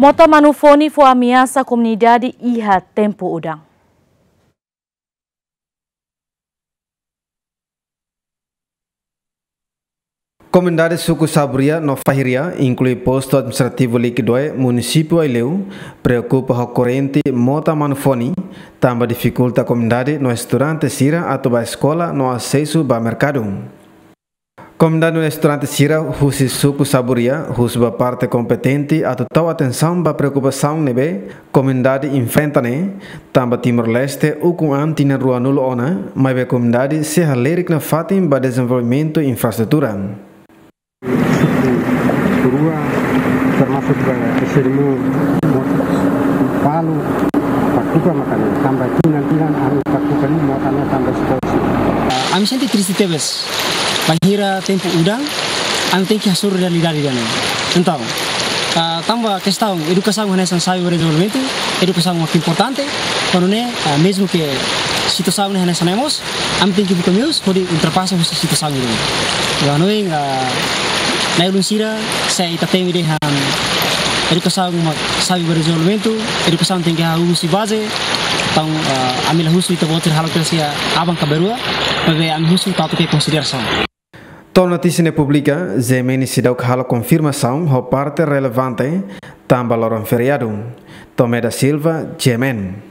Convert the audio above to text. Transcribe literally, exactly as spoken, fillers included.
Mota Manufoni fó ameasa komunidade iha tempu udan. Komunidade suku Saburia no Fahiria, inklui postu administrativu Liquidoe, munisípiu Aileu, preokupa ho korrente Mota Manufoni, tanba difikulta komunidade no estudante sira atu ba eskola no asesu ba merkadu. Komunidade no estudante sira husi suku Saburia husu ba parte kompetente atu tau atensaun ba preokupasaun ne'ebé komunidade enfrenta ne'e, tanba Timor-Leste ukun an tinan ruanulu ona, maibé komunidade sei halerik nafatin ba dezenvolvimentu infraestrutura. Suku rua, termasuk, eh, S R M, Palu, Patuka, makanya tambah tinan-tinan, anu, Patuka ini mau tambah tambah sekolah. Ami sente triste tebes. Bainhira tempu udan, ami tenke hasoru realidade ida-ne'e. Entaun, ah, tanba kestaun edukasaun hanesan xave ba dezenvolvimentu, edukasaun mak importante, kuandu ne'e, ah, mezmu ke situasaun ne'e hanesan ne'e mós, ami tenke buka meius hodi ultrapasa husi situasaun ne'e. Ha'u hanoin, ah, na'i-ulun sira, se ita temi dehan edukasaun mak xave ba dezenvolvimentu, edukasaun tenke hahú husi baze, entaun, ah, ami la husu ita-boot sira halo kira-kira aban ka ba rua, maibé ami husu atu ke konsiderasaun. To'o notísia ne'e publika, G M N seidauk halo konfirmasaun ho parte relevante, tanba loron feriadu. Tomé da Silva, G M N.